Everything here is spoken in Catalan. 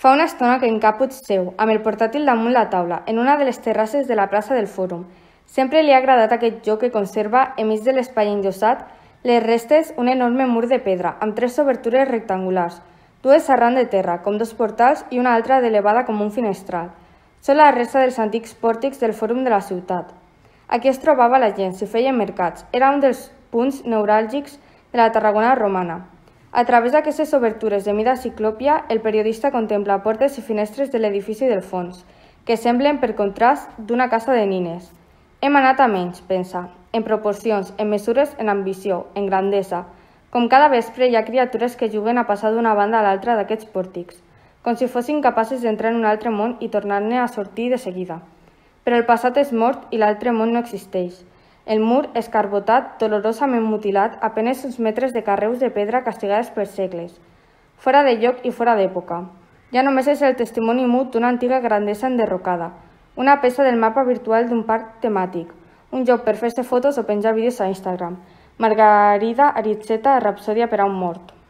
Fa una estona que en Caput seu, amb el portàtil damunt la taula, en una de les terrasses de la plaça del Fòrum. Sempre li ha agradat aquest joc que conserva, enmig de l'espai enllosat, les restes un enorme mur de pedra, amb 3 obertures rectangulars, 2 arran de terra, com 2 portals, i una altra d'elevada com un finestral. Són la resta dels antics pòrtics del Fòrum de la ciutat. Aquí es trobava la gent, s'hi feien mercats. Era un dels punts neuràlgics de la Tarragona romana. A través d'aquestes obertures de mida ciclòpia, el periodista contempla portes i finestres de l'edifici del fons, que semblen, per contrast, d'una casa de nines. Hem anat a menys, pensa, en proporcions, en mesures, en ambició, en grandesa. Com cada vespre hi ha criatures que juguen a passar d'una banda a l'altra d'aquests pòrtics, com si fossin capaces d'entrar en un altre món i tornar-ne a sortir de seguida. Però el passat és mort i l'altre món no existeix. El mur, escarbotat, dolorosament mutilat, a penes uns metres de carreus de pedra castigades per segles. Fora de lloc i fora d'època. Ja només és el testimoni mut d'una antiga grandesa enderrocada, una peça del mapa virtual d'un parc temàtic, un joc per fer-se fotos o penjar vídeos a Instagram. Margarida Aritzeta, Rapsòdia per a un mort.